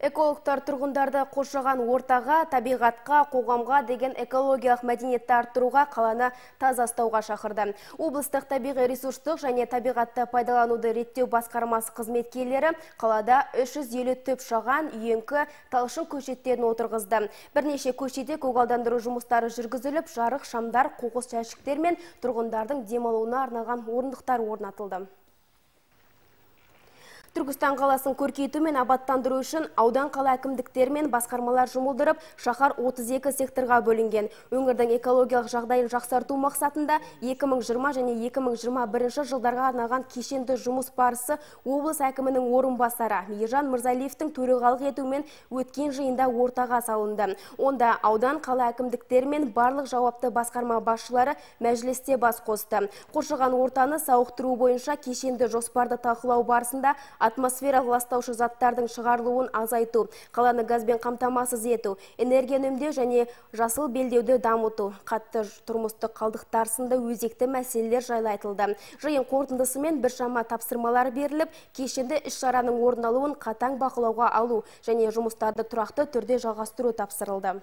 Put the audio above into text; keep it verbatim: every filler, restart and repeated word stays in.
Экологтар тұрғындарды қоршаған ортаға, табиғатқа, қоғамға деген экологиялық мәдениетті арттыруға, қаланы таза ұстауға шақырды. Облыстық табиғи ресурстық және табиғатты пайдалануды реттеу басқармасы қызметкерлері қалада үш жүз елу түп шаған, үйеңкі, талшын көшеттерін отырғызды. Бірнеше көшеде көгалдандыру жұмыстары жүргізіліп, жарық, шамдар, қоқыс жәшіктер мен тұрғындардың демалуына арналған орындықтар орнатылды. Түркістан қаласын көркейту мен абаттандыру үшін аудан қала әкімдіктері мен басқармалар жұмылдырып, шаһар отыз екі секторға бөлінген. Өңірдің экологиялық жағдайын жақсарту мақсатында екі мың жиырма және екі мың жиырма бірінші жылдарға арналған кешенді жұмыс барысы облыс әкімінің орынбасары Ержан Мырзалиевтің төрағалық етуімен өткен жиында ортаға салынды. Онда аудан қала әкімдіктері мен барлық жауапты басқарма басшылары мәжілісте бас қосты. Қоршаған ортаны сауықтыру бойынша кешенді жоспарды талқылау барысында атмосфералық ластаушы заттардың шығарылуын азайту, қаланы газбен қамтамасыз ету, энергия үнемдеу және жасыл белдеуді дамыту, қатты тұрмыстық қалдықтар сынды өзекті мәселелер жайлы айтылды. Жиын қорытындысымен біршама тапсырмалар беріліп, кешенді іс-шараның орын алуын қатаң бақылауға алу және жұмыстарды тұрақты түрде жалғастыру тапсырылды.